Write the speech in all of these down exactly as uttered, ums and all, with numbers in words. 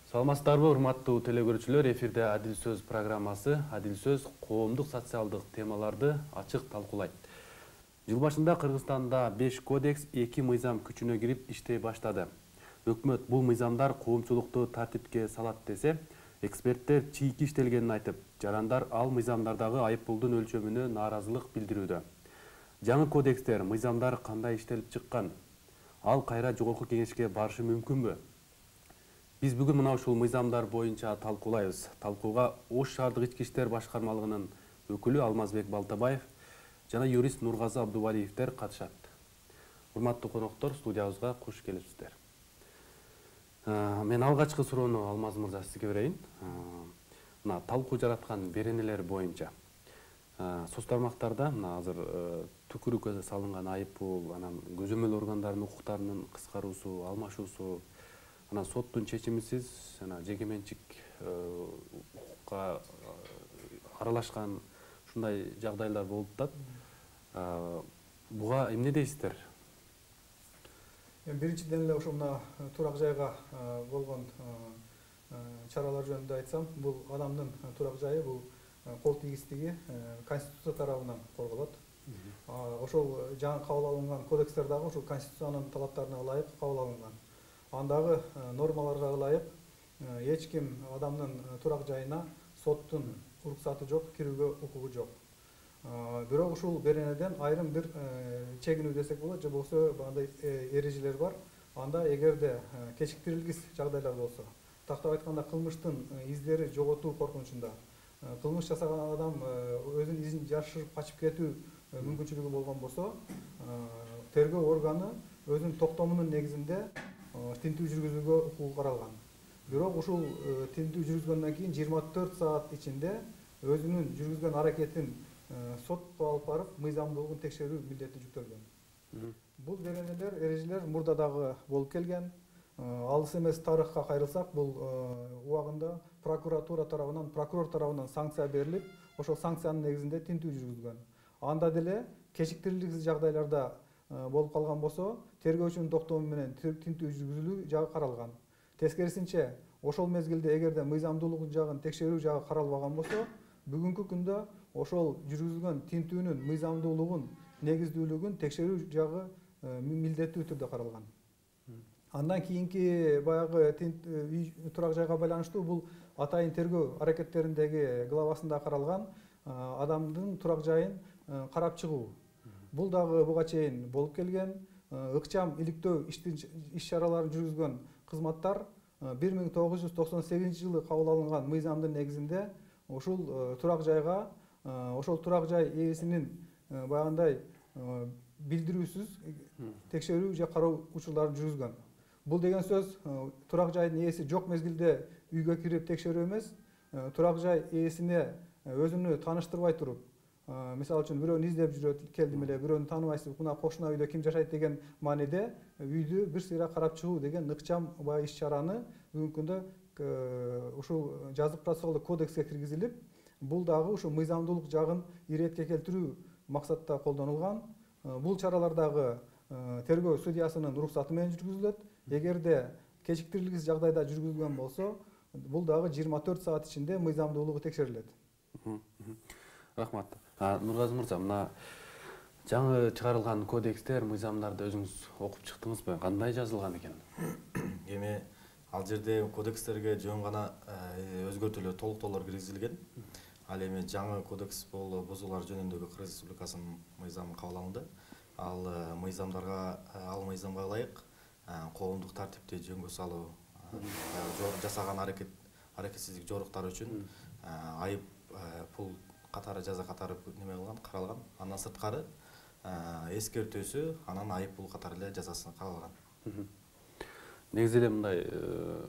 Саламатсыздарбы, урматтуу телекөрүүчүлөр, эфирде Адил сөз программасы. Адил сөз коомдук социалдык темаларды ачык талкуулайт. Жыл башында Кыргызстанда беш кодекс, эки мыйзам күчүнө кирип иштей баштады. Өкмөт бул мыйзамдар коомчулукту тартипке салат десе, эксперттер чийки иштелгенин айтып, жарандар ал мыйзамдардагы айыппулдун өлчөмүнө нааразылык билдирүүдө. Жаңы кодекстер, мыйзамдар кандай иштелип чыккан? Ал кайра жогорку кеңешке барышы мүмкүнбү? Биз бүгүн мына ушул мыйзамдар боюнча талкуулайбыз. Талкууга Ош шаардык ички иштер башкармалыгынын өкүлү Алмазбек Балтабаев жана юрист Нургазы Абдувалиевдер катышат. Урматтуу коноктор, студиябызга куш келипсиздер. Мен алгачкы суроону Алмаз мырза сизге берейин. Мына талкуу жараткан беренелер боюнча соц тармактарда мына азыр түкүрүккө салынган айыппул, анан көзөмөл органдарынын укуктарынын кыскаруусу, алмашуусу, анан соттун чечимисиз жана жеке менчик укукка аралашкан ушундай жагдайлар болуп атат. Буга эмне дейсиздер? Биринчиден эле ошо мына турак жайга болгон чаралар жөнүндө айтсам, бул адамдын турак жайы, бул кол тийгиздиги Конституция тарабынан корголот. Ошол жаңы кабыл алынган кодекстер дагы ушул Конституциянын талаптарына ылайык кабыл алынган. Андагы нормаларга ылайык эч ким адамдын турак жайына соттун уруксаты жок, кирүүгө укугу жок. Бирок ушул беренеден айрым бир чегинүү десек болот, же болбосо бандай эрежелер бар. Анда эгерде кечиктирилгис жагдайлар болсо, тактап айтканда кылмыштын издери жоготуу коркунучунда, кылмыш жасаган адам өзүнүн изин жашырып качып кетүү мүмкүнчүлүгү болгон болсо, тергөө органы өзүнүн токтомунун негизинде тинтүү жүргүзүүгө укугу каралган. Бирок ушул тинтүү жүргүзгөндөн кийин жыйырма төрт саат ичинде өзүнүн жүргүзгөн аракетин сотко алып барып, мыйзамдуулугун текшерүү милдети жүктөлгөн. Бул беренелер, эрежелер мурда дагы болуп келген. Алыс эмес тарыхка кайрылсак, бул убагында прокуратура тарабынан, прокурор тарабынан санкция берилип, ошол санкциянын негизинде тинтүү жүргүзгөн. Анда деле кечиктирилгис жагдайларда болуп калган болсо, тергөөчүнүн токтому менен тинтүү жүргүзүлүү жагы каралган. Тескерисинче, ошол мезгилде эгерде мыйзамдуулук жагын текшерүү жагы каралбаган болсо, бүгүнкү күндө ошол жүргүзүлгөн тинтүүнүн мыйзамдуулугун, негиздүүлүгүн текшерүү жагы милдеттүү түрдө каралган. Андан кийинки баягы турак жайга байланыштуу бул атайын тергөө аракеттериндеги главасында каралган адамдын турак жайын карап чыгуу. Бул дагы буга чейин болуп келген. Ыкчам иликтөө иш-чараларын жүргүзгөн кызматтар бир миң тогуз жүз токсон сегизинчи жылы кабыл алынган мыйзамдын негизинде ушул турак жайга, ошол турак жай ээсинин баягындай билдирүүсүз текшерүү же кароо учурларын жүргүзгөн. Бул деген сөз турак жайдын ээси жок мезгилде үйгө кирип текшерүү эмес, турак жай ээсине өзүнү тааныштырбай туруп, мисалы үчүн бирөөнү издеп жүрөт, келдим эле, бирөөнү тааныбайсыз, мына кошуна үйдө ким жашайт деген мааниде үйдү бир сыйра карап чыгуу деген ыкчам баягы иш-чараны бүгүнкү күндө ушул жазык процессуалдык кодекске киргизилип, бул дагы ушул мыйзамдуулук жагын иретке келтирүү максатта колдонулган. Бул чаралар дагы тергөө судьясынын уруксаты менен жүргүзүлөт. Эгерде кечиктирилгис жагдайда жүргүзүлгөн болсо, бул дагы жыйырма төрт саат ичинде мыйзамдуулугу текшерилет. Рахмат. Нургазы мырза, мына жаңы чыгарылган кодекстер, мыйзамдарды өзүңүз окуп чыктыңызбы? Кандай жазылган экен? Эми ал жерде кодекстерге жөн гана өзгөртүүлөр, толуктоолор киргизилген. Ал эми жаңы кодекс бул бузуулар жөнүндөгү Кыргыз Республикасынын мыйзамы кабыл алынды. Ал мыйзамдарга, ал мыйзамга ылайык коомдук тартипти жөнгө салуу, жасаган аракет, аракетсиздик жоруктары үчүн айып пул катары, жаза катары неме кылган, каралган. Андан сырткары эскертүүсү, анан айып пул катары эле жазасы каралган. Негизи эле мындай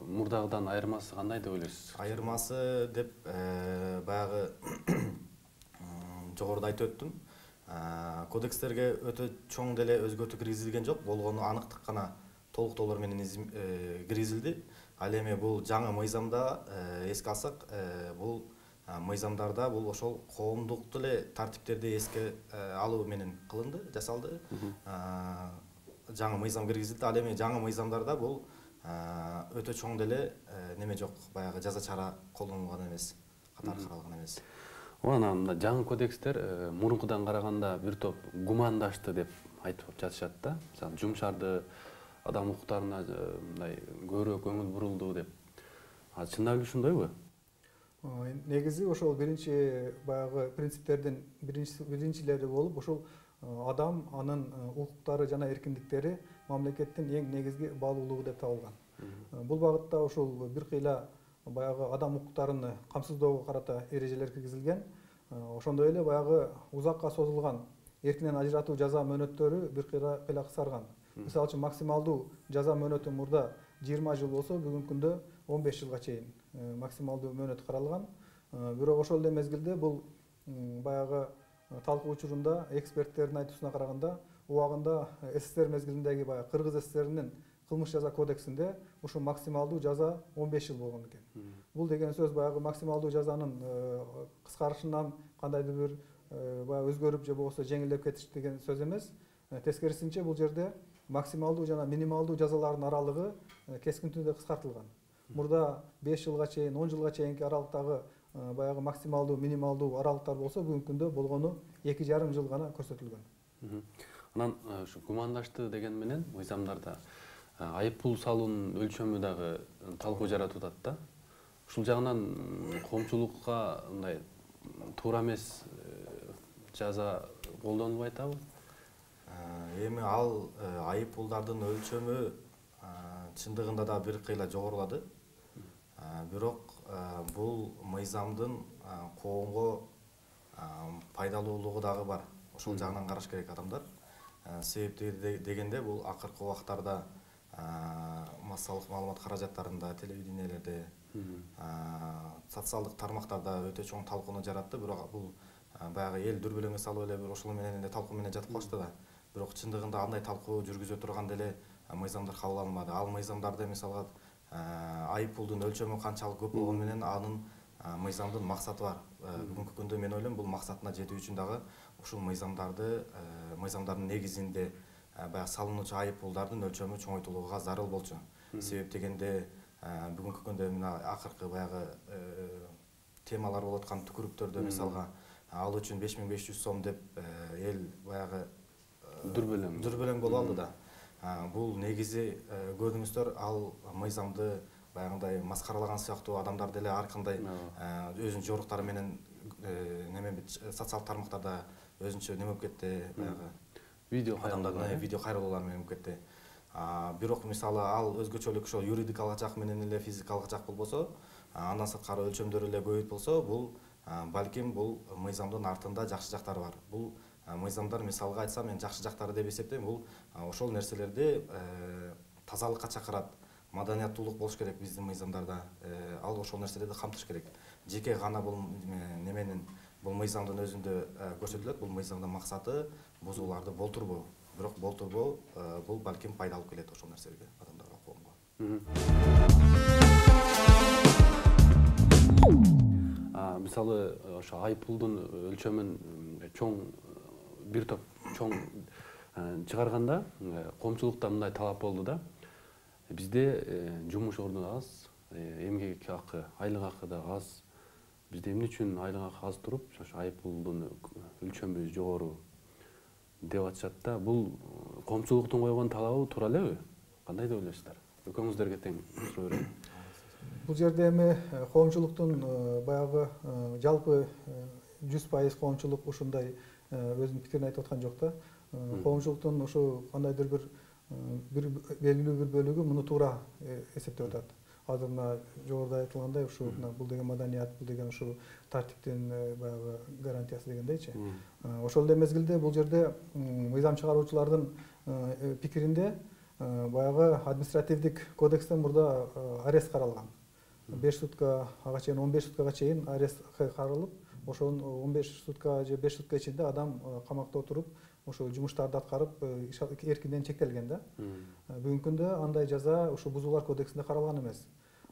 мурдагыдан айырмасы кандай деп ойлойсуз? Айырмасы деп баягы жогоруда айтып өттүм. Кодекстерге өтө чоң деле өзгөртүү киргизилген жок, болгону анықтык гана толуктоолор менен киргизилди. Ал эми бул жаңы мыйзамда эске алсак, бул мыйзамдарда бул ошол коомдук деле тартиптерди эске алуу менен кылынды, жасалды. Жаңы мыйзам киргизилди. Ал эми жаңы мыйзамдарда бул өтө чоң деле неме жок, баягы жаза чара колдонулган эмес, катары каралган эмес. Анан мына жаңы кодекстер мурункудан караганда бир топ гумандашты деп айтып жатышат да. Мисалы, жумшарды, адам укуктарына мындай көбүрөөк көңүл бурулду деп. А чындап эле ошондойбу? Негизи ошол биринчи баягы принциптердин биринчилери болуп, ошол адам, анын укуктары жана эркиндиктери мамлекеттин эң негизги баалуулугу деп табылган. Бул багытта ошол бир кыйла баягы адам укуктарын камсыздоого карата эрежелер киргизилген. Ошондой эле баягы узакка созулган эркинен ажыратуу жаза мөөнөттөрү бир кыйла кыскарган. Мисалы үчүн максималдуу жаза мөөнөтү мурда жыйырма жыл болсо, бүгүнкү күндө он беш жылга чейин максималдуу мөөнөт каралган. Бирок ошол эле мезгилде бул баягы талкуу учурунда эксперттердин айтуусуна караганда, убагында СССР мезгилиндеги баягы Кыргыз СССРинин кылмыш жаза кодексинде ушу максималдуу жаза он беш жыл болгон экен. Бул деген сөз баягы максималдуу жазанын кыскарышынан кандайдыр бир баягы өзгөрүп же болбосо жеңилдеп кетиш деген сөз эмес. Тескерисинче бул жерде максималдуу жана минималдуу жазалардын аралыгы кескин түрдө кыскартылган. Мурда беш жылга чейин, он жылга чейинки аралыктагы баягы максималдуу, минималдуу аралыктар болсо, бүгүнкү күндө болгону эки жарым жыл гана көрсөтүлгөн. Анан ушу гумандашты деген менен мыйзамдарда айып пул салуунун өлчөмү дагы талкуу жаратып атат да. Ушул жагынан коомчулукка мындай туура эмес жаза колдонулбай атабы? Эми ал айып пулдардын өлчөмү чындыгында да бир кыйла жогорулады. Бирок бул мыйзамдын коомго пайдалуулугу дагы бар. Ошол жагынан караш керек адамдар. Себеби дегенде бул акыркы убактарда массалык маалымат каражаттарында, телевидениелерде, социалдык тармактарда өтө чоң талкууну жаратты. Бирок бул баягы эл дүрбөлөңгө салып эле бир ошол менен эле талкуу менен жатып калышты да. Бирок чындыгында андай талкуу жүргүзө турган деле мыйзамдар кабыл алынбады. Ал мыйзамдарда мисалга айып пулдун өлчөмү канчалык көп болгону менен анын мыйзамдын максаты бар. Бүгүнкү күндө мен ойлойм, бул максатына жетүү үчүн дагы ушул мыйзамдарды, мыйзамдардын негизинде баягы салынуучу айып пулдардын өлчөмү чоңойтулууга зарыл болчу. Себеп дегенде бүгүнкү күндө мына акыркы баягы темалар болуп аткан түкүрүктөрдө мисалга ал үчүн беш миң беш жүз сом деп эл баягы дүрбөлөң дүрбөлөң болуп алды да. Бул негизи көрдүңүздөр, ал мыйзамды баягындай маскаралаган сыяктуу адамдар деле ар кандай өзүнүн жоруктары менен неме социалдык тармактарда өзүнчө неме болуп кетти, баягы видео адамдардын видео кайрылуулар менен болуп кетти. Бирок мисалы ал өзгөчөлүк ошол юридикалык жак менен эле физикалык жак болбосо, андан сырткары өлчөмдөрү эле көбөйт болсо, бул балким бул мыйзамдын артында жакшы жактары бар. Бул мыйзамдар мисалга айтсам, мен жакшы жактары деп эсептейм, бул ошол нерселерди тазалыкка чакырат, маданияттуулук болуш керек биздин мыйзамдарда. Ал ошол нерселерди камтыш керек. Жеке гана бул неменин, бул мыйзамдын өзүндө көрсөтүлөт. Бул мыйзамдын максаты бузууларды болтурбоо. Бирок болтурбоо бул балким пайда алып келет ошол нерселерге, адамдарга, коомго. Мисалы, ошо айып пулдун өлчөмүн чоң бир топ чоң чыгарганда коомчулукта мындай талап болду да. Бизде жумуш орду аз, эмгек акы, айлык акы да аз. Бизде эмне үчүн айлык акы аз туруп, ошо айып пулдун өлчөмү жогору деп атышат да. Бул коомчулуктун койгон талабы туура элеби? Кандай деп ойлойсуздар? Экөөңүздөргө тең суроо берейин. Бул жерде эми коомчулуктун баягы жалпы жүз пайыз коомчулук ушундай өзүнүн пикирин айтып аткан жок да. Коомчулуктун ушу кандайдыр бир бир белгилүү бир бөлүгү муну туура эсептеп атат. Азыр мына жогоруда айтылгандай, ушу бул деген маданият, бул деген ушу тартиптин баягы гарантиясы дегендейчи. Ошол эле мезгилде бул жерде мыйзам чыгаруучулардын пикиринде баягы административдик кодекстен мурда арест каралган. беш сутка ага чейин, он беш суткага чейин арест каралып, ошол он беш сутка же беш сутка ичинде адам камакта отуруп, ошо жумуштарды аткарып, эркинден чектелген да. Бүгүнкү күндө андай жаза ушу бузуулар кодексинде каралган эмес.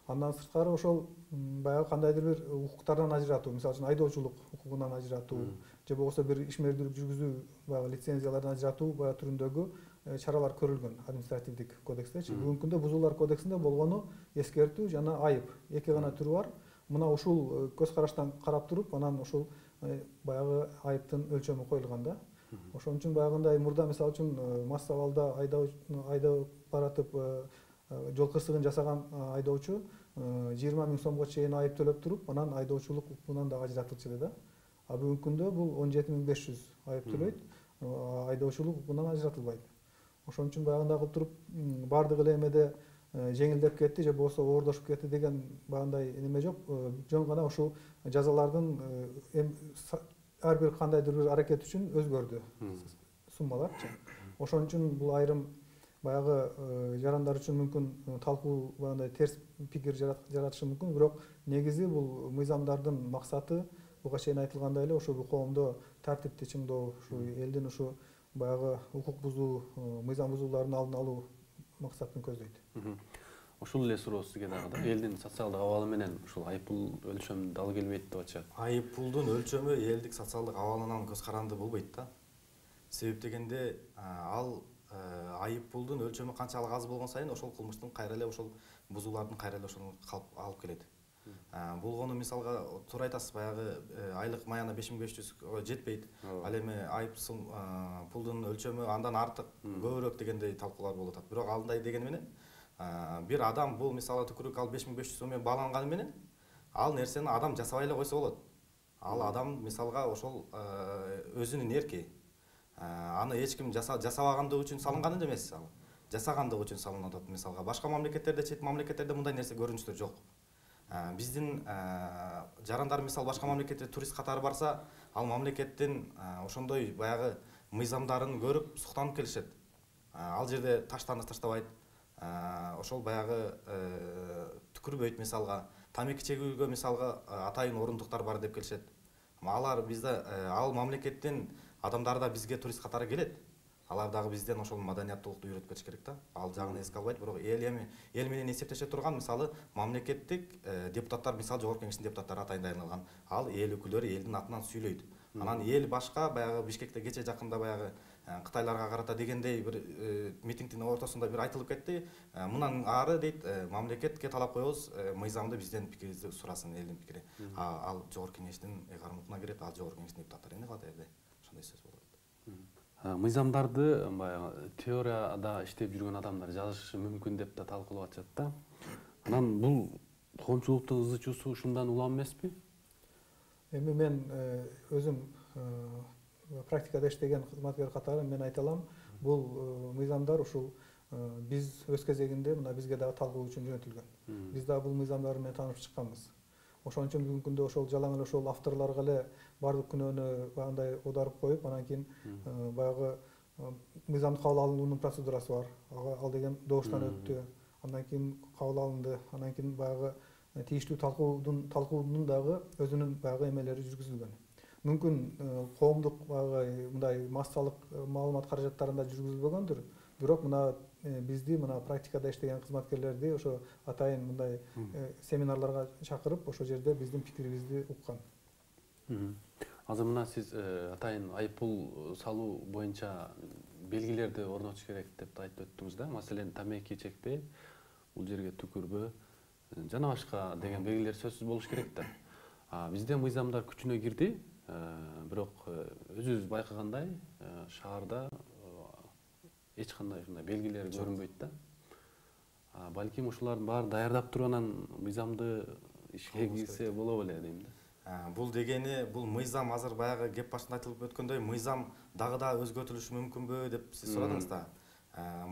Андан сырткары ошол баягы кандайдыр бир укуктардан ажыратуу, мисалы үчүн айдоочулук укугунан ажыратуу же болбосо бир ишмердүүлүк жүргүзүү, баягы лицензиялардан ажыратуу баягы түрүндөгү чаралар көрүлгөн административдик кодекстечи. Бүгүнкү күндө бузуулар кодексинде болгону эскертүү жана айып эки гана түрү бар. Мына ушул көз караштан карап туруп, анан ушул баягы айыптын өлчөмү коюлган да. Ошон үчүн баягындай мурда мисалы үчүн мас абалда айдап баратып жол кырсыгын жасаган айдоочу жыйырма миң сомго чейин айып төлөп туруп, анан айдоочулук укугунан да ажыратылчу эле да. А бүгүнкү күндө бул он жети миң беш жүз айып төлөйт, айдоочулук укугунан ажыратылбайт. Ошон үчүн баягындай кылып туруп баардык эле эмеде жеңилдеп кетти же болбосо оордошуп кетти деген баягындай неме жок. Жөн гана ушул жазалардын ар бир кандайдыр бир аракет үчүн өзгөрдү суммаларчы. Ошон үчүн бул айрым баягы жарандар үчүн мүмкүн талкуу баягындай терс пикир жаратышы мүмкүн, бирок негизи бул мыйзамдардын максаты буга чейин айтылгандай эле ошо коомдо тартипти чыңдоо, ушу элдин ушу баягы укук бузуу, мыйзам бузуулардын алдын алуу максатын көздөйт. Ушул эле суроо сизге дагы. Элдин социалдык абалы менен ушул айыппул өлчөмү дал келбейт деп атышат. Айыппулдун өлчөмү элдик социалдык абалынан көз каранды болбойт да. Себеп дегенде ал айыппулдун өлчөмү канчалык аз болгон сайын ошол кылмыштын кайра эле ошол бузуулардын кайра эле ошону алып келет. Болгону мисалга туура айтасыз, баягы айлык маяна беш миң беш жүз жетпейт. Ал эми айып пулдун өлчөмү андан артык, көбүрөөк дегендей талкуулар болуп атат. Бирок андай дегени менен бир адам бул мисалы түкүрүк ал беш миң беш жүз сом менен бааланганы менен ал нерсени адам жасабай эле койсо болот. Ал адам мисалга ошол өзүнүн эрки. Аны эч ким жасабагандыгы үчүн салынган эмес, ал жасагандыгы үчүн салынып атат. Мисалга башка мамлекеттерде, чет мамлекеттерде мындай нерсе көрүнүштөр жок. Биздин жарандар мисал башка мамлекетке турист катары барса, ал мамлекеттин ошондой баягы мыйзамдарын көрүп суктанып келишет. Ал жерде таштаны таштабайт, ошол баягы түкүрбөйт, мисалга тамеки чегүүгө мисалга атайын орундуктар бар деп келишет. Алар бизде ал мамлекеттин адамдары да бизге турист катары келет. Алар дагы бизден ошол маданияттуулукту үйрөтүп кетиш керек да. Ал жагын эске албайт, бирок эл эми эл менен эсептеше турган мисалы мамлекеттик депутаттар, мисалы жогорку кеңештин депутаттары атайындалган. Ал эл өкүлдөрү элдин атынан сүйлөйт. Анан эл башка баягы Бишкекте кече жакында баягы Кытайларга карата дегендей бир митингдин ортосунда бир айтылып кетти. Мындан ары дейт, мамлекетке талап коебуз, мыйзамды бизден пикирибизди сурасын, элдин пикири. Ал жогорку кеңештин кармалына кирет, ал жогорку кеңештин депутаттары эмне кылат элде? Ошондой сөз болот. Мыйзамдарды баягы теорияда иштеп жүргөн адамдар жазышы мүмкүн деп да талкуулап атышат да. Анан бул коомчулуктун ызы чуусу ушундан улам эмеспи? Эми мен өзүм практикада иштеген кызматкер катары мен айта алам, бул мыйзамдар ушул биз өз кезегинде мына бизге дагы талкуу үчүн жөнөтүлгөн. Биз дагы бул мыйзамдар менен таанышып чыкканбыз. Ошон үчүн бүгүнкү күндө ошол жалаң эле ошол авторлорго эле баардык күнөөнү баягындай аударып коюп, анан кийин баягы мыйзамды кабыл алуунун процедурасы бар. Ал деген добуштан өттү, андан кийин кабыл алынды, анан кийин баягы тийиштүү талкуудун талкуунун дагы өзүнүн баягы эмелери жүргүзүлгөн. Мүмкүн коомдук баягы мындай массалык маалымат каражаттарында жүргүзүлбөгөндүр, бирок мына бизди мына практикада иштеген кызматкерлерди ошо атайын мындай семинарларга чакырып, ошол жерде биздин пикирибизди уккан. Азыр мына сиз атайын айыппул салуу боюнча белгилерди орнотуш керек деп айтып өттүңүз да. Маселен, тамеки чекпе, бул жерге түкүрбө жана башка деген белгилер сөзсүз болуш керек да. Бизде мыйзамдар күчүнө кирди, бирок өзүбүз байкагандай шаарда эч кандай ушундай белгилер көрүнбөйт да. Балким ушулардын баарын даярдап туруп анан мыйзамды ишке кирсе боло беле дейм да. Бул дегени, бул мыйзам азыр баягы кеп башында айтылып өткөндөй мыйзам дагы да өзгөртүлүшү мүмкүнбү деп сиз сурадыңыз да.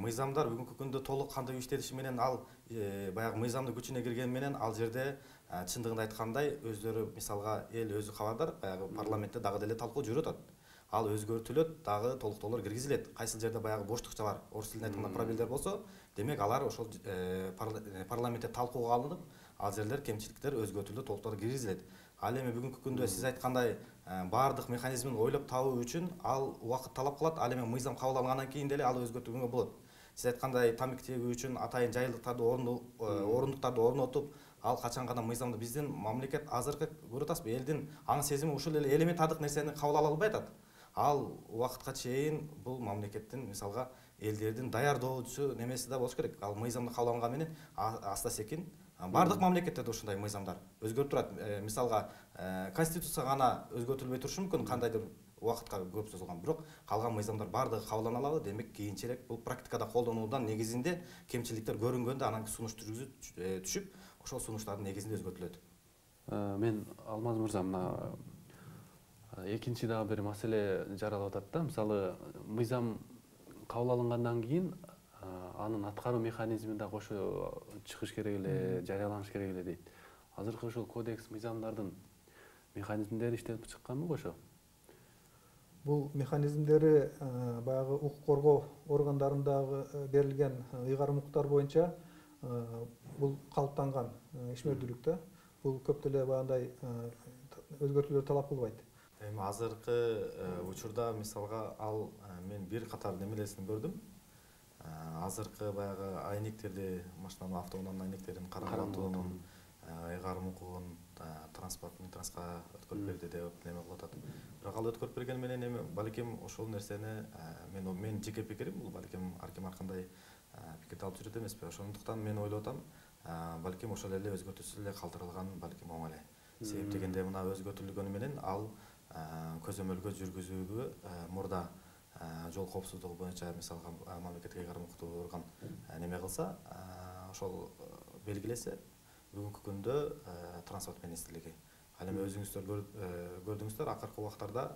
Мыйзамдар бүгүнкү күндө толук кандуу иштелиши менен ал баягы мыйзамдын күчүнө киргени менен ал жерде чындыгында айткандай өздөрү мисалга эл өзү кабардар, баягы парламентте дагы деле талкуу жүрүп атат. Ал өзгөртүлөт, дагы толуктоолор киргизилет. Кайсыл жерде баягы боштукча бар, орус тилинде айтканда пробелдер болсо, демек алар ошол парламентте талкууга алынып, ал жерлер кемчиликтер өзгөртүлүп, толуктоолор киргизилет. Ал эми бүгүнкү күндө сиз айткандай баардык механизмин ойлоп табуу үчүн ал убакыт талап кылат. Ал эми мыйзам кабыл алынгандан кийин деле ал өзгөртүүгө болот. Сиз айткандай тамеки чегүү үчүн атайын жайылыктарды орундуктарды орнотуп, ал качан гана мыйзамды биздин мамлекет азыркы көрүп атасызбы, элдин аң сезими ушул эле элементардык нерсени кабыл ала албай атат. Ал убакытка чейин бул мамлекеттин мисалга элдердин даярдоочу немеси да болуш керек. Ал мыйзамды кабыл алган менен аста секин бардык мамлекеттерде ушундай мыйзамдар өзгөрүп турат. Мисалга конституция гана өзгөртүлбөй турушу мүмкүн, кандайдыр убакытка көп созулган, бирок калган мыйзамдар бардыгы кабылдана алабы. Демек кийинчерээк бул практикада колдонуудан негизинде кемчиликтер көрүнгөндө анан сунуш түргүзүп түшүп, ошол сунуштардын негизинде өзгөртүлөт. Мен Алмаз мырза, мына экинчи дагы бир маселе жаралып атат да. Мисалы, мыйзам кабыл алынгандан кийин анын аткаруу механизмин да кошо чыгыш керек эле, жарыяланыш керек эле дейт. Азыркы ушул кодекс мыйзамдардын механизмдери иштелип чыкканбы кошо? Бул механизмдери баягы укук коргоо органдарындагы берилген ыйгарым укуктар боюнча бул калыптанган ишмердүүлүк да. Бул көп деле баягындай өзгөртүүлөр талап кылбайт. Эми азыркы учурда мисалга ал мен бир катар немелерин көрдүм. Азыркы баягы айнектерди, машинанын автоунаанын айнектерин караңгылатуунун ыйгарым укугун транспорттун транска өткөрүп берди деп неме кылып атат. Бирок ал өткөрүп берген менен эми балким ошол нерсени мен менин жеке пикирим, бул балким ар ким ар кандай пикирди алып жүрөт эмеспи. Ошондуктан мен ойлоп атам, балким ошол эле өзгөртүүсүз эле калтырылган балким оң эле. Себеп дегенде мына өзгөртүлгөнү менен ал көзөмөлгө жүргүзүүгө мурда жол коопсуздугу боюнча мисалга мамлекеттик ыйгарым укуктуу орган неме кылса, ошол белгилесе, бүгүнкү күндө транспорт министрлиги. Ал эми өзүңүздөр көрдүңүздөр, акыркы убактарда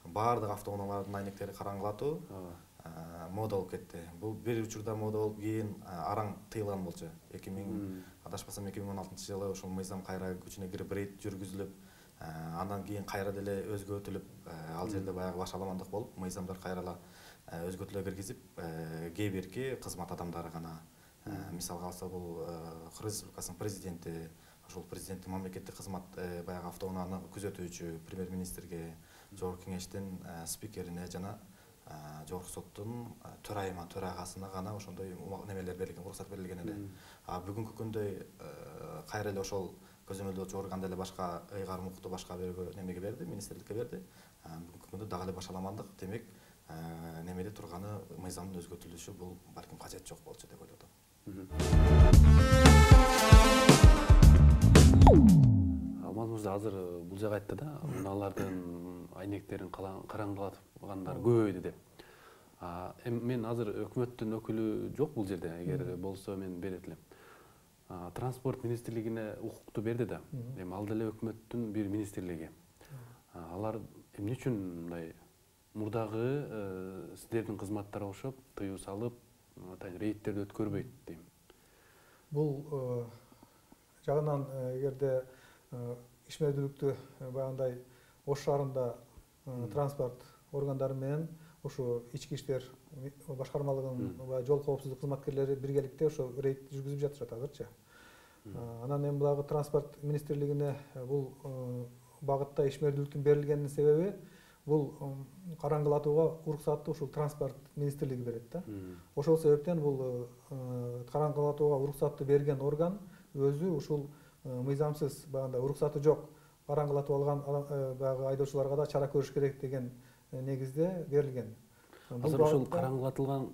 баардык автоунаалардын айнектери караңгылатуу мода болуп кетти. Бул бир учурда мода болуп, кийин араң тыйылган болчу. эки миң адашпасам эки миң он алтынчы жылы ошол мыйзам кайра күчүнө кирип рейд жүргүзүлүп, андан кийин кайра деле өзгөртүлүп, ал жерде баягы башаламандык болуп, мыйзамдар кайрала өзгөртүүлөр киргизип, кээ бирки кызмат адамдары гана, мисалга алса бул Кыргыз Республикасынын президенти, ошол президенттин мамлекеттик кызмат баягы автоунааны күзөтүүчү премьер-министрге, жогорку кеңештин спикерине жана жогорку соттун төрайымы, төрагасына гана ошондой немелер берилген, уруксат берилген эле. А бүгүнкү күндө кайра эле ошол көзөмөлдөөчү орган деле башка ыйгарым укукту башка бирөөгө немеге берди, министрликке берди. Бүгүнкү күндө дагы эле башаламандык, демек немеде турганы мыйзамдын өзгөртүлүшү бул балким кажет жок болчу деп ойлоп атам. Алмаз мырза азыр бул жагы айтты да, унаалардын айнектерин караңгылаткандар көбөйдү деп. Эми мен азыр өкмөттүн өкүлү жок бул жерде, эгер болсо мен берет элем. Транспорт министрлигине укукту берди да. Эми ал деле өкмөттүн бир министрлиги. Алар эмне үчүн мындай мурдагы сиздердин кызматтар окшоп тыюу салып, рейдтерди өткөрбөйт дейм. Бул жагынан эгерде ишмердүүлүктү баягындай Ош шаарында транспорт органдары менен ушу ички иштер башкармалыгынын жол коопсуздук кызматкерлери биргеликте ошо рейд жүргүзүп жатышат азырчы. Анан эми булагы транспорт министрлигине бул багытта ишмердүүлүктүн берилгенинин себеби бул караңгылатууга уруксатты ушул транспорт министрлиги берет да. Ошол себептен бул караңгылатууга уруксатты берген орган өзү ушул мыйзамсыз баягындай уруксаты жок караңгылатып алган баягы айдоочуларга да чара көрүш керек деген негизде берилген. Азыр ушул караңгылатылган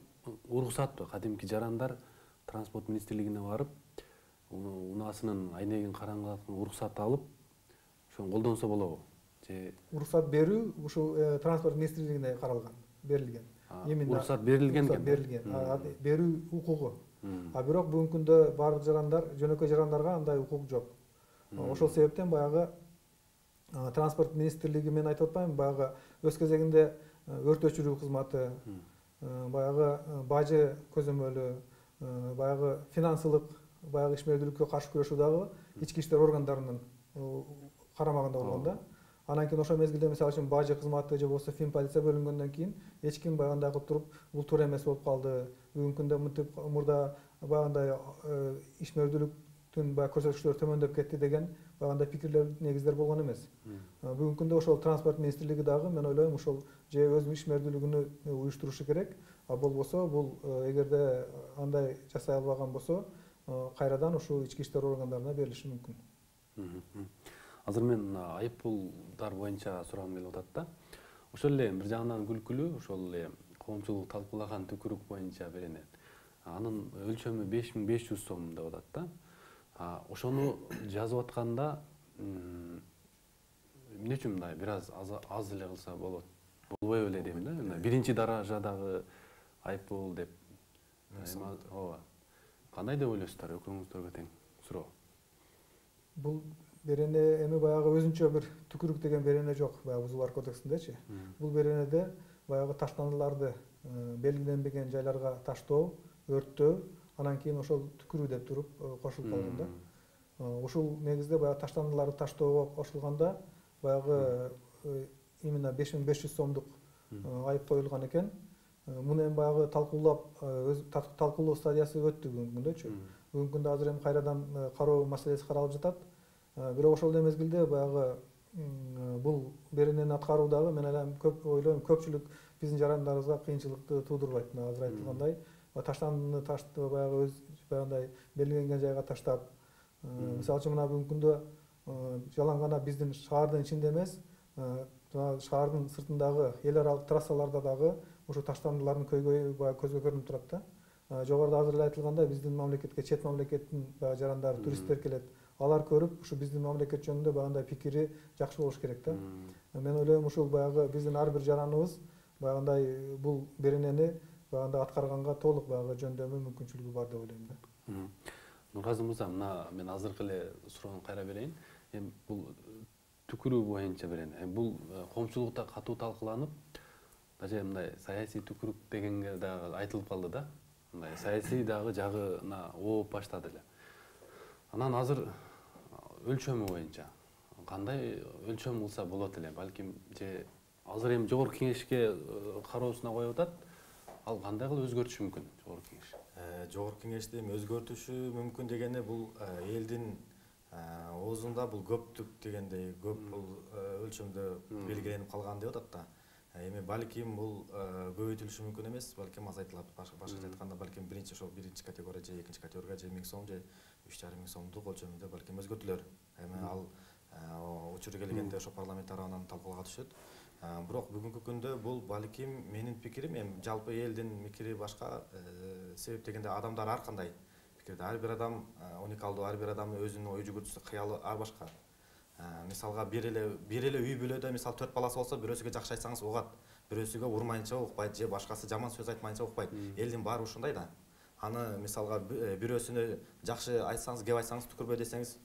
уруксат кадимки жарандар транспорт министрлигине барып, унаасынын айнегин караңгылаткан уруксат алып, ошону колдонсо болобу? Же уруксат берүү ушул транспорт министрлигине каралган, берилген. Уруксат берилген экен. Берилген. Берүү укугу. А бирок бүгүнкү күндө бардык жарандар, жөнөкөй жарандарга андай укук жок. Ошол себептен баягы транспорт министрлиги мен айтып атпаймынбы, баягы өз кезегинде өрт өчүрүү кызматы, баягы бажы көзөмөлү, баягы финансылык, баягы ишмердүүлүккө каршы күрөшүү дагы ички иштер органдарынын карамагында болгон да. Анан кийин ошол мезгилде мисалы үчүн бажы кызматы же болбосо фин полиция бөлүнгөндөн кийин эч ким баягындай кылып туруп бул туура эмес болуп калды. Бүгүнкү күндө мынтип мурда баягындай ишмердүүлүктүн баягы көрсөткүчтөрү төмөндөп кетти деген баягындай пикирлер, негиздер болгон эмес. Бүгүнкү күндө ошол транспорт министрлиги дагы мен ойлойм ушул же өз ишмердүүлүгүн уюштурушу керек, а болбосо бул эгерде андай жасай албаган болсо, кайрадан ушул ички иштер органдарына берилиши мүмкүн. Азыр мен айыппулдар боюнча сурагым келип атат да. Ошол эле бир жагынан күлкүлүү, ошол эле коомчулук талкуулаган түкүрүк боюнча беренет. Анын өлчөмү беш миң беш жүз сом деп атат да. Ошону жазып атканда эмне үчүн мындай бир аз аз эле кылса болот? Болбой эле дейм да. Биринчи даражадагы айыппул деп. Ооба. Кандай деп ойлойсуздар, экөөңүздөргө тең суроо. Бул берене эми баягы өзүнчө бир түкүрүк деген берене жок, баягы бузуулар кодексиндечи. Бул беренеде баягы таштандыларды белгиленбеген жайларга таштоо, өрттөө, анан кийин ошол түкүрүү деп туруп кошулуп калган да. Ушул негизде баягы таштандыларды таштоого кошулганда баягы именно беш миң беш жүз сомдук айып коюлган экен. Муну эми баягы талкуулап, талкуулоо стадиясы өттү бүгүнкү күндөчү. Бүгүнкү күндө азыр эми кайрадан кароо маселеси каралып жатат. Бирок ошол эле мезгилде баягы бул беренени аткаруу дагы мен эле көп ойлойм, көпчүлүк биздин жарандарыбызга кыйынчылыкты туудурбайт. Мына азыр айтылгандай, таштандыны таштап баягы өз баягындай белгиленген жайга таштап, мисалы үчүн мына бүгүнкү күндө жалаң гана биздин шаардын ичинде эмес, шаардын сыртындагы эл аралык трассаларда дагы ушу таштандылардын көйгөйү баягы көзгө көрүнүп турат да. Жогоруда азыр эле айтылгандай, биздин мамлекетке чет мамлекеттин баягы жарандары, туристтер келет. Алар көрүп, ушу биздин мамлекет жөнүндө баягындай пикири жакшы болуш керек да. Мен ойлойм, ушул баягы биздин ар бир жараныбыз баягындай бул беренени баягындай аткарганга толук баягы жөндөмү, мүмкүнчүлүгү бар деп ойлойм да. Нургазы мырза, мына мен азыркы эле суроону кайра берейин. Эми бул түкүрүү боюнча берене. Эми бул коомчулукта катуу талкууланып, даже мындай саясий түкүрүк дегенге дагы айтылып калды да. Мындай саясий дагы жагына ооп баштады эле. Анан азыр өлчөмү боюнча кандай өлчөм кылса болот эле? Балким же азыр эми жогорку кеңешке кароосуна коюп атат. Ал кандай кылып өзгөртүшү мүмкүн жогорку кеңеш? Жогорку кеңешти эми өзгөртүшү мүмкүн дегенде бул элдин оозунда бул көптүк дегендей көп бул өлчөмдө белгиленип калган деп атат да. Эми балким бул көбөйтүлүшү мүмкүн эмес, балким азайтылат. Башкача айтканда балким биринчи ошол биринчи категория же экинчи категорияга же миң сом же үч жарым миң сомдук өлчөмүндө балким өзгөртүлөр. Эми ал учуру келгенде ошо парламент тарабынан талкууга түшөт. Бирок бүгүнкү күндө бул балким менин пикирим, эми жалпы элдин пикири башка, себеп дегенде адамдар ар кандай пикирде. Ар бир адам уникалдуу, ар бир адамдын өзүнүн ой жүгүртүүсү, кыялы ар башка. Мисалга бир эле бир эле үй бүлөдө мисалы төрт баласы болсо, бирөөсүгө жакшы айтсаңыз угат, бирөөсүгө урмайынча укпайт же башкасы жаман сөз айтмайынча укпайт. Элдин баары ушундай да. Аны мисалга бирөөсүнө жакшы айтсаңыз, кеп айтсаңыз түкүрбөй десеңиз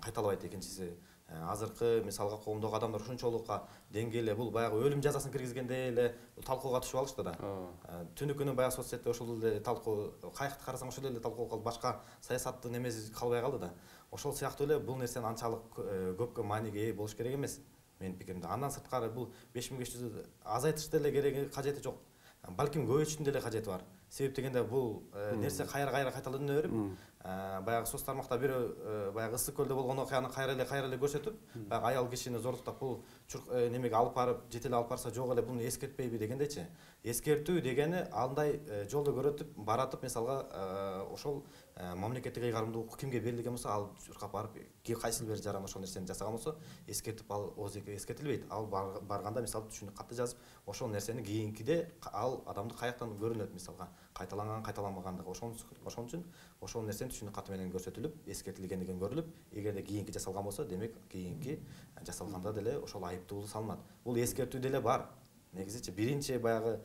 кайталабайт экинчиси. Азыркы мисалга коомдогу адамдар ушунчолукка деңгээлде бул баягы өлүм жазасын киргизгендей эле талкууга түшүп алышты да. Түнү күнү баягы соц сетте ошол эле талкуу, кайыкты карасаң ошол эле талкуу калды, башка саясаттын эмеси калбай калды да. Ошол сыяктуу эле бул нерсени анчалык көпкө мааниге ээ болуш керек эмес менин пикиримде. Андан сырткары бул беш миң беш жүздү азайтыш деле кереги, кажети жок. Балким көбөйтүштүн деле кажети бар. Себеп дегенде бул нерсе кайра-кайра кайталана берип, баягы соц тармакта бирөө баягы Ысык көлдө болгон окуяны кайра эле кайра эле көрсөтүп, баягы аял кишини зордуктап бул немеге алып барып, жетелеп алып барса жок эле буну эскертпейби дегендейчи. Эскертүү дегени андай жолдо көрөтүп, баратып, мисалга ошол мамлекеттик ыйгарымдуулук кимге берилген болсо, ал чуркап барып, кайсыл бир жаран ошол нерсени жасаган болсо, эскертип ал оозеке эскертилбейт. Ал барганда мисалы түшүнүк катты жазып, ошол нерсени кийинкиде ал адамды каяктан көрүнөт, мисалга кайталанган, кайталанбагандыгы. Ошон үчүн ошол нерсени түшүнүк каты менен көрсөтүлүп, эскертилгендиги көрүлүп, эгерде кийинки жасалган болсо, демек кийинки жасалганда деле ошол айыптуулук салынат. Бул эскертүү деле бар. Негизичи биринчи баягы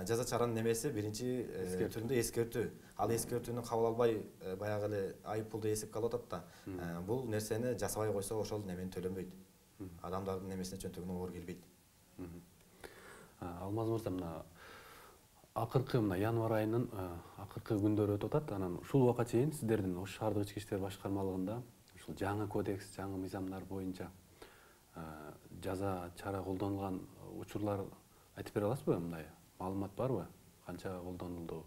жаза чаранын немеси биринчи түрүндө эскертүү. Ал эскертүүнү кабыл албай баягы эле айыппулду эсепке алып атат да. Бул нерсени жасабай койсо ошол немени төлөнбөйт. Адамдардын немесине чөнтөгүнө оор келбейт. Алмаз мырза, мына акыркы мына январь айынын акыркы күндөрү өтүп атат. Анан ушул убакка чейин сиздердин Ош шаардык ички иштер башкармалыгында ушул жаңы кодекс, жаңы мыйзамдар боюнча жаза чара колдонулган учурлар айтып бере аласызбы? Мындай маалымат барбы? Канча колдонулду?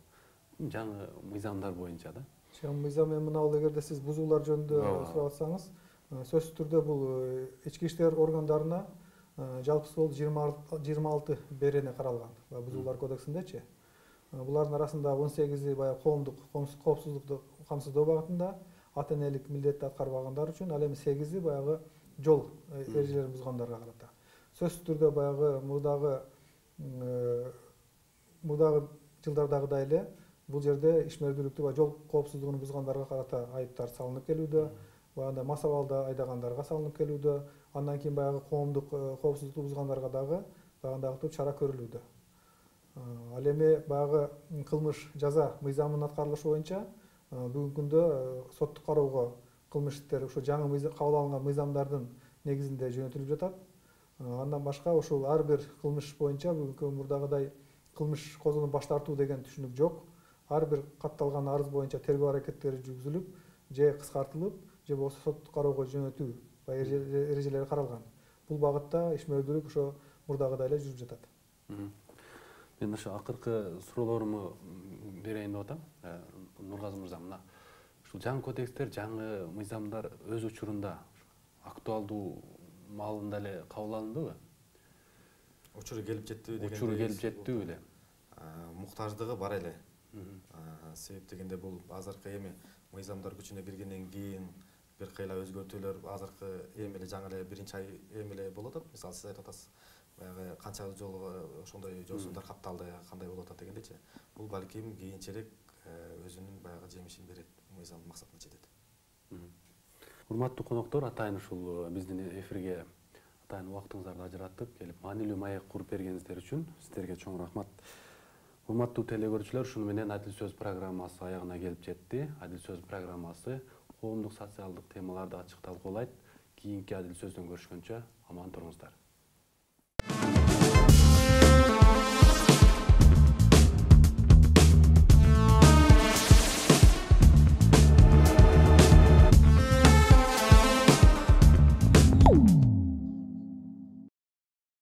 Жаңы мыйзамдар боюнча да. Жаңы мыйзам эми мына бул эгерде сиз бузуулар жөнүндө сурап атсаңыз, сөзсүз түрдө бул ички иштер органдарына жалпысы бол жыйырма алты берене каралган бузуулар кодексиндечи. Булардын арасында он сегизи баягы коомдук коопсуздукту камсыздоо багытында, ата энелик милдетти аткарбагандар үчүн, ал эми сегизи баягы жол эрежелерин бузгандарга карата. Сөзсүз түрдө баягы мурдагы мурдагы жылдардагыдай эле бул жерде ишмердүүлүктү ба жол коопсуздугун бузгандарга карата айыптар салынып келүүдө, баягындай мас абалда айдагандарга салынып келүүдө, андан кийин баягы коомдук коопсуздукту бузгандарга дагы баягындагы чара көрүлүүдө. Ал эми баягы кылмыш жаза мыйзамынын аткарылышы боюнча бүгүнкү күндө соттук кароого кылмыш иштери ушу жаңы кабыл алынган мыйзамдардын негизинде жөнөтүлүп жатат. Андан башка ушул ар бир кылмыш боюнча бүгүнкү мурдагыдай кылмыш козгонуп баш тартуу деген түшүнүк жок. Ар бир катталган арыз боюнча тергөө аракеттери жүргүзүлүп, же кыскартылып, же болбосо соттук кароого жөнөтүү эрежелери каралган. Бул багытта ишмердүүлүк ошо мурдагыдай эле жүрүп жатат. Мен ошо акыркы суроолоруму берейин деп атам. Нургазы мырза, мына ушул жаңы кодекстер, жаңы мыйзамдар өз учурунда актуалдуу маалында эле кабыл алындыбы? Учуру келип жеттиби дегенде. Учуру келип жеттиби эле? Муктаждыгы бар эле. Себеп дегенде бул азыркы эми мыйзамдар күчүнө киргенден кийин бир кыйла өзгөртүүлөр азыркы эми эле жаңы эле биринчи ай эми эле болуп атат. Мисалы сиз айтып атасыз, баягы канча жолу ошондой жолсуздар катталды, кандай болуп атат дегендечи. Бул балким кийинчерээк өзүнүн баягы жемишин берет, мыйзамдын максатына жетет. Урматтуу коноктор, атайын ушул биздин эфирге атайын убактыңыздарды ажыраттып келип маанилүү маек куруп бергениңиздер үчүн сиздерге чоң рахмат. Урматтуу телегөрүүчүлөр, ушуну менен Адил сөз программасы аягына келип жетти. Адил сөз программасы коомдук социалдык темаларды ачык талкуулайт. Кийинки Адил сөздөн көрүшкөнчө аман туруңуздар.